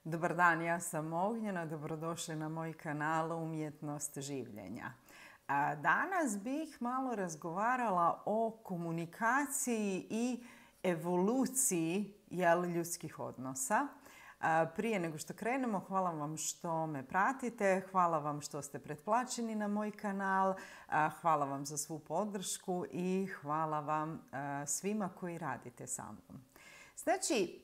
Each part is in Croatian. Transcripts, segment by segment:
Dobar dan, ja sam Ognjena, dobrodošli na moj kanal Umjetnost življenja. Danas bih malo razgovarala o komunikaciji i evoluciji ljudskih odnosa. Prije nego što krenemo, hvala vam što me pratite, hvala vam što ste pretplaćeni na moj kanal, hvala vam za svu podršku i hvala vam svima koji radite sa mnom. Znači,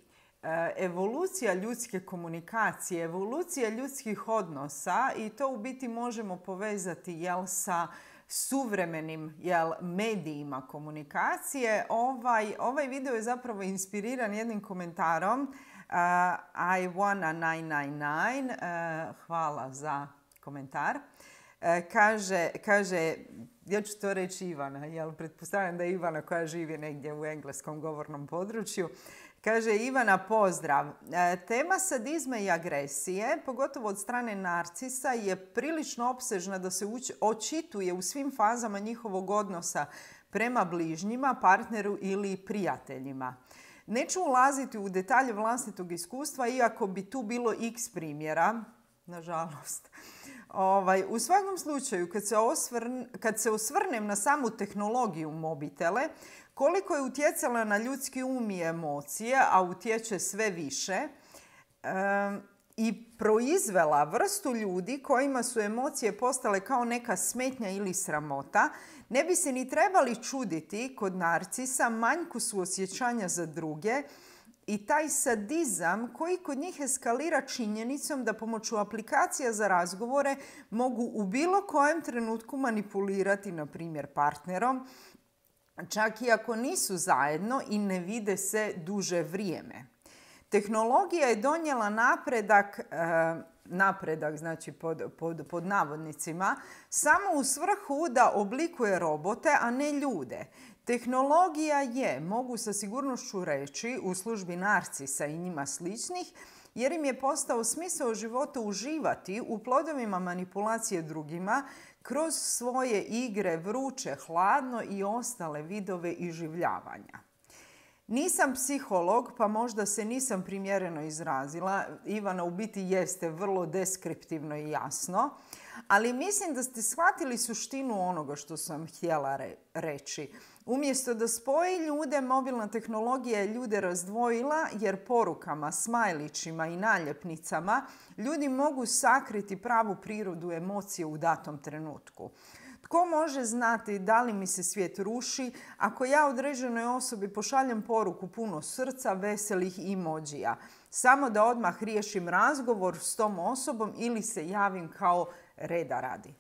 evolucija ljudske komunikacije, evolucija ljudskih odnosa i to u biti možemo povezati sa suvremenim medijima komunikacije. Ovaj video je zapravo inspiriran jednim komentarom I wanna 999. Hvala za komentar. Kaže, ja ću to reći Ivana, jer pretpostavljam da je Ivana koja živi negdje u engleskom govornom području. Kaže Ivana, pozdrav. Tema sadizma i agresije, pogotovo od strane narcisa, je prilično opsežna da se očituje u svim fazama njihovog odnosa prema bližnjima, partneru ili prijateljima. Neću ulaziti u detalje vlastitog iskustva, iako bi tu bilo x primjera, nažalost. U svakom slučaju, kad se osvrnem na samu tehnologiju mobitele, koliko je utjecala na ljudski um i emocije, a utječe sve više, i proizvela vrstu ljudi kojima su emocije postale kao neka smetnja ili sramota, ne bi se ni trebali čuditi kod narcisa manjku suosjećanja za druge i taj sadizam koji kod njih eskalira činjenicom da pomoću aplikacija za razgovore mogu u bilo kojem trenutku manipulirati, na primjer, partnerom, čak i ako nisu zajedno i ne vide se duže vrijeme. Tehnologija je donijela napredak znači pod navodnicima, samo u svrhu da oblikuje robote, a ne ljude. Tehnologija je, mogu sa sigurnošću reći, u službi narcisa i njima sličnih, jer im je postao smisao života uživati u plodovima manipulacije drugima kroz svoje igre vruće, hladno i ostale vidove iživljavanja. Nisam psiholog, pa možda se nisam primjereno izrazila. Ivana, u biti jeste vrlo deskriptivno i jasno, ali mislim da ste shvatili suštinu onoga što sam htjela reći. Umjesto da spoji ljude, mobilna tehnologija je ljude razdvojila, jer porukama, smajlićima i naljepnicama ljudi mogu sakriti pravu prirodu emocije u datom trenutku. Tko može znati da li mi se svijet ruši ako ja određenoj osobi pošaljem poruku puno srca, veselih emojija, samo da odmah riješim razgovor s tom osobom ili se javim kao reda radi.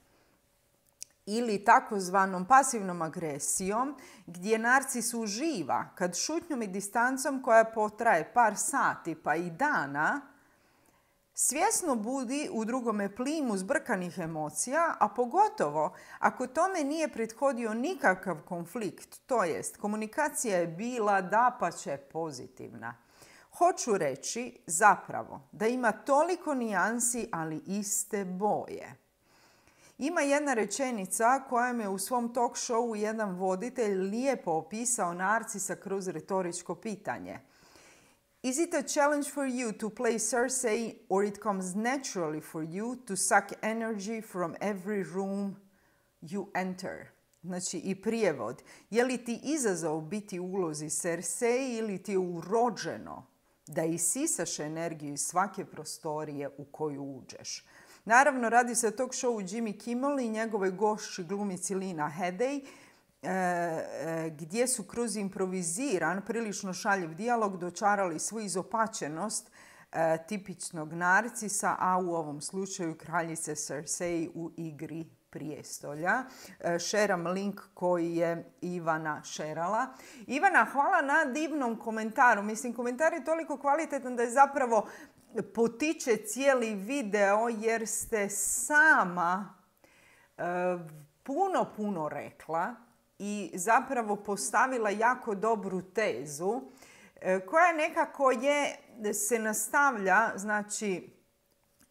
Ili takozvanom pasivnom agresijom, gdje narcis uživa kad šutnjom i distancom koja potraje par sati pa i dana svjesno budi u drugome plimu zbrkanih emocija, a pogotovo ako tome nije prethodio nikakav konflikt, to jest komunikacija je bila dapače pozitivna. Hoću reći zapravo da ima toliko nijansi, ali iste boje. Ima jedna rečenica kojom je u svom talk showu jedan voditelj lijepo opisao narcisa kroz retoričko pitanje. Is it a challenge for you to play Cersei, or it comes naturally for you to suck energy from every room you enter? Znači i prijevod. Je li ti izazov biti u ulozi Cersei ili ti je urođeno da isisaš energiju iz svake prostorije u koju uđeš? Naravno, radi se o talk showu Jimmy Kimmel i njegovoj gošći glumici Lena Headey, gdje su kroz improviziran, prilično šaljiv dijalog dočarali svu izopačenost tipičnog narcisa, a u ovom slučaju kraljice Cersei u Igri prijestolja. Šeram link koji je Ivana šerala. Ivana, hvala na divnom komentaru. Mislim, komentar je toliko kvalitetan da je zapravo potiče cijeli video, jer ste sama puno rekla i zapravo postavila jako dobru tezu koja nekako se nastavlja, znači,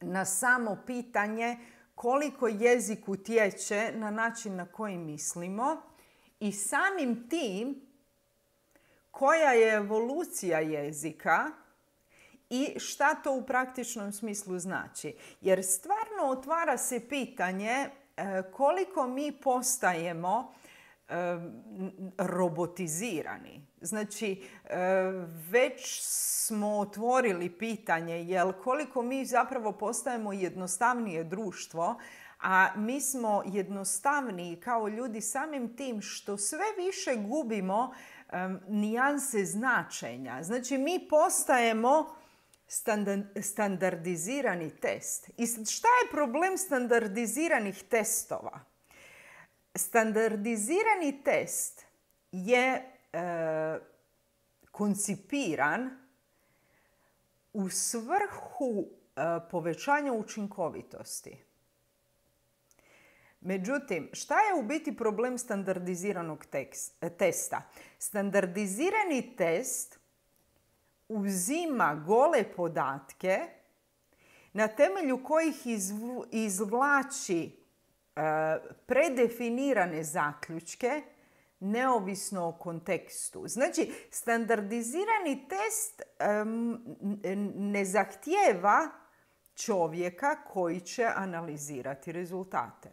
na samo pitanje koliko jezik utječe na način na koji mislimo i samim tim koja je evolucija jezika i šta to u praktičnom smislu znači. Jer stvarno otvara se pitanje koliko mi postajemo robotizirani. Znači, već smo otvorili pitanje koliko mi zapravo postajemo jednostavnije društvo, a mi smo jednostavniji kao ljudi samim tim što sve više gubimo nijanse značenja. Znači, mi postajemo standardizirani test. I šta je problem standardiziranih testova? Standardizirani test je koncipiran u svrhu povećanja učinkovitosti. Međutim, šta je u biti problem standardiziranog testa? Standardizirani test uzima gole podatke na temelju kojih izvlači predefinirane zaključke neovisno o kontekstu. Znači, standardizirani test ne zahtijeva čovjeka koji će analizirati rezultate.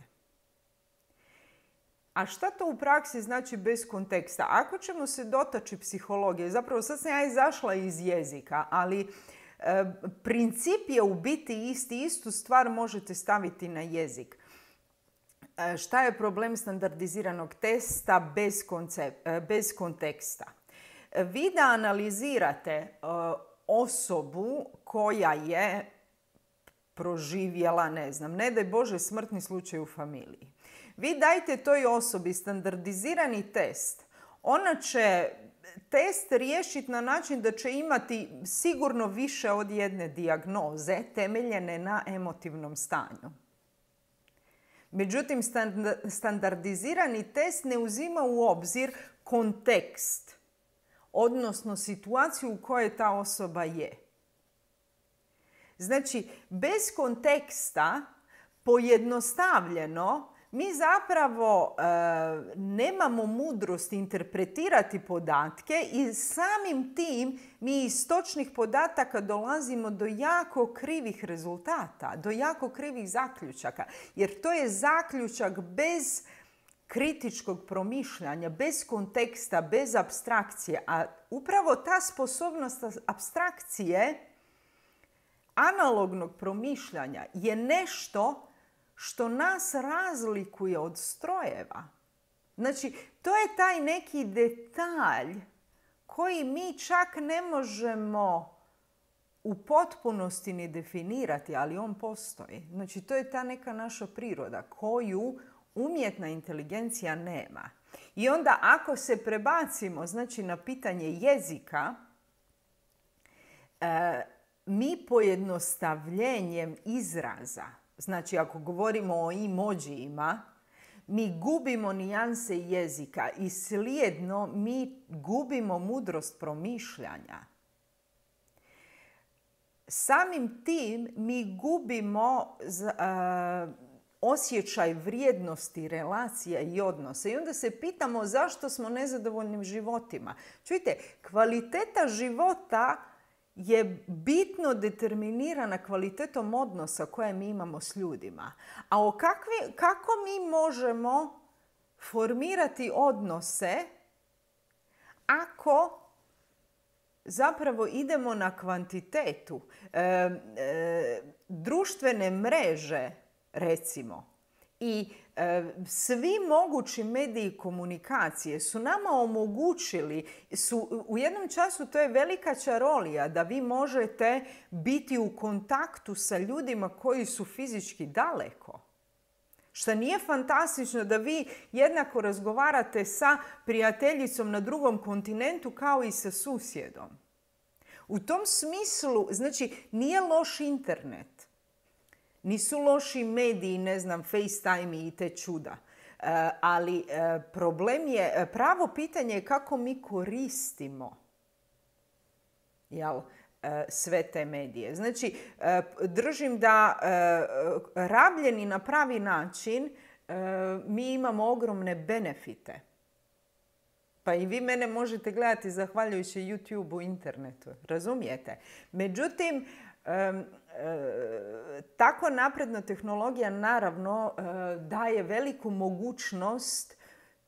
A šta to u praksi znači bez konteksta? Ako ćemo se dotaći psihologije, zapravo sad sam ja izašla iz jezika, ali princip je u biti isti, istu stvar možete staviti na jezik. Šta je problem standardiziranog testa bez konteksta? Vi da analizirate osobu koja je proživjela, ne daj Bože, smrtni slučaj u familiji. Vi dajte toj osobi standardizirani test. Ona će test riješiti na način da će imati sigurno više od jedne dijagnoze temeljene na emotivnom stanju. Međutim, standardizirani test ne uzima u obzir kontekst, odnosno situaciju u kojoj ta osoba je. Znači, bez konteksta, pojednostavljeno, mi zapravo nemamo mudrost interpretirati podatke i samim tim mi iz točnih podataka dolazimo do jako krivih rezultata, do jako krivih zaključaka. Jer to je zaključak bez kritičkog promišljanja, bez konteksta, bez apstrakcije. A upravo ta sposobnost apstrakcije, analognog promišljanja, je nešto što nas razlikuje od strojeva. Znači, to je taj neki detalj koji mi čak ne možemo u potpunosti ni definirati, ali on postoji. Znači, to je ta neka naša priroda koju umjetna inteligencija nema. I onda ako se prebacimo, znači, na pitanje jezika, mi pojednostavljenjem izraza, znači ako govorimo o emojijima, mi gubimo nijanse jezika i slijedno mi gubimo mudrost promišljanja. Samim tim mi gubimo osjećaj vrijednosti, relacija i odnosa. I onda se pitamo zašto smo nezadovoljnim životima. Čujte, kvaliteta života je bitno determinirana kvalitetom odnosa koje mi imamo s ljudima. A kako mi možemo formirati odnose ako zapravo idemo na kvantitetu? Društvene mreže, recimo, i svi mogući mediji komunikacije su nama omogućili, u jednom času to je velika čarolija da vi možete biti u kontaktu sa ljudima koji su fizički daleko. Što nije fantastično da vi jednako razgovarate sa prijateljicom na drugom kontinentu kao i sa susjedom. U tom smislu, znači, nije loš internet. Nisu loši mediji, FaceTime i te čuda. Ali problem je, pravo pitanje je kako mi koristimo sve te medije. Znači, držim da rabljeni na pravi način mi imamo ogromne benefite. Pa i vi mene možete gledati zahvaljujući YouTube-u, internetu. Razumijete? Međutim, tako napredna tehnologija naravno daje veliku mogućnost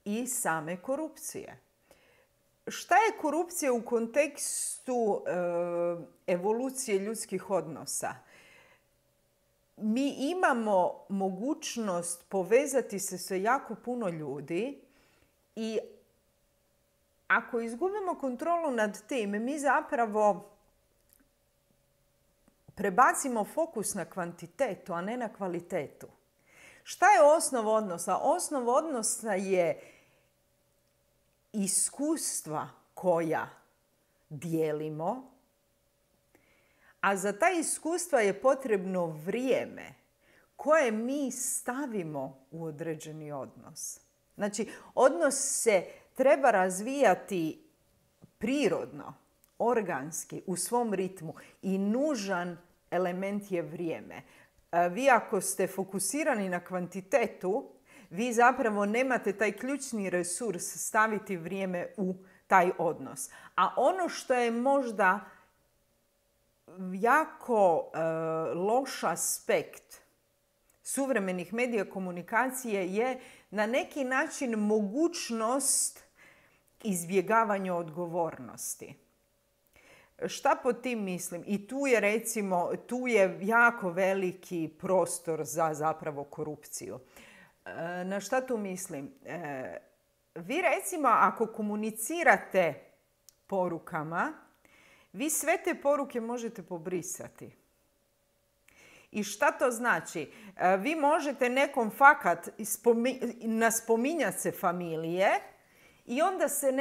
i same korupcije. Šta je korupcija u kontekstu evolucije ljudskih odnosa? Mi imamo mogućnost povezati se sa jako puno ljudi i ako izgubimo kontrolu nad tim, mi zapravo prebacimo fokus na kvantitetu, a ne na kvalitetu. Šta je osnov odnosa? Osnov odnosa je iskustva koja dijelimo, a za ta iskustva je potrebno vrijeme koje mi stavimo u određeni odnos. Znači, odnos se treba razvijati prirodno, organski, u svom ritmu i nužan element je vrijeme. Vi ako ste fokusirani na kvantitetu, vi zapravo nemate taj ključni resurs staviti vrijeme u taj odnos. A ono što je možda jako loš aspekt suvremenih medija komunikacije je na neki način mogućnost izbjegavanja odgovornosti. Šta pod tim mislim? I tu je jako veliki prostor za zapravo korupciju. Na šta tu mislim? Vi recimo ako komunicirate porukama, vi sve te poruke možete pobrisati. I šta to znači? Vi možete nekom fakat naspominjati se familije i onda se,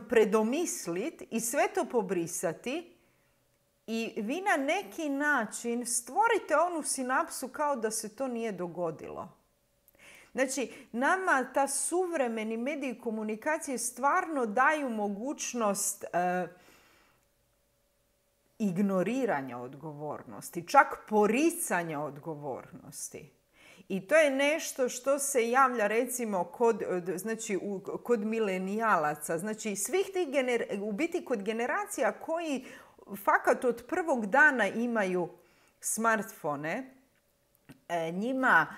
predomisliti i sve to pobrisati i vi na neki način stvorite onu sinapsu kao da se to nije dogodilo. Znači, nama ta suvremeni mediji komunikacije stvarno daju mogućnost ignoriranja odgovornosti, čak poricanja odgovornosti. I to je nešto što se javlja recimo kod milenijalaca. Znači, svih tih u biti kod generacija koji fakat od prvog dana imaju smartfone, njima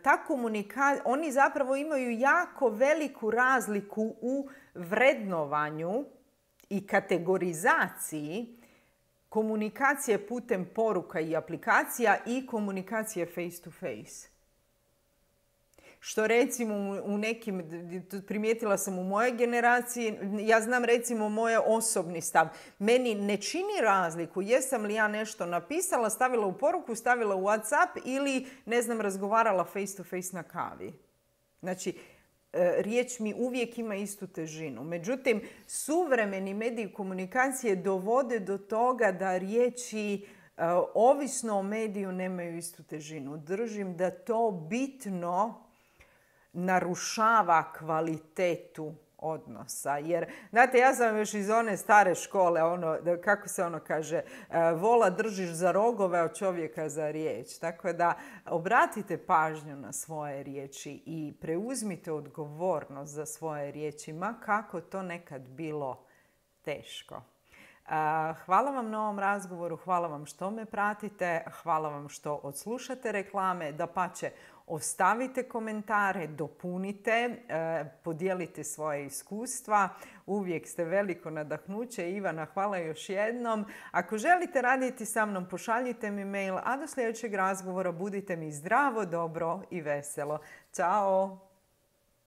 ta komunikacija, oni zapravo imaju jako veliku razliku u vrednovanju i kategorizaciji komunikacije putem poruka i aplikacija i komunikacije face to face. Što recimo u nekim, primijetila sam u mojoj generaciji, ja znam recimo moj osobni stav. Meni ne čini razliku jesam li ja nešto napisala, stavila u poruku, stavila u WhatsApp ili, razgovarala face to face na kavi. Znači, riječ mi uvijek ima istu težinu. Međutim, suvremeni mediji komunikacije dovode do toga da riječi ovisno o mediju nemaju istu težinu. Držim da to bitno narušava kvalitetu odnosa. Jer, znate, ja sam još iz one stare škole, kako se kaže, vola držiš za rogove, a čovjeka za riječ. Tako da obratite pažnju na svoje riječi i preuzmite odgovornost za svoje riječi, ma kako to nekad bilo teško. Hvala vam na ovom razgovoru, hvala vam što me pratite, hvala vam što odslušate reklame, dapače, ostavite komentare, dopunite, podijelite svoje iskustva. Uvijek ste veliko nadahnuće. Ivana, hvala još jednom. Ako želite raditi sa mnom, pošaljite mi mail, a do sljedećeg razgovora budite mi zdravo, dobro i veselo. Ćao!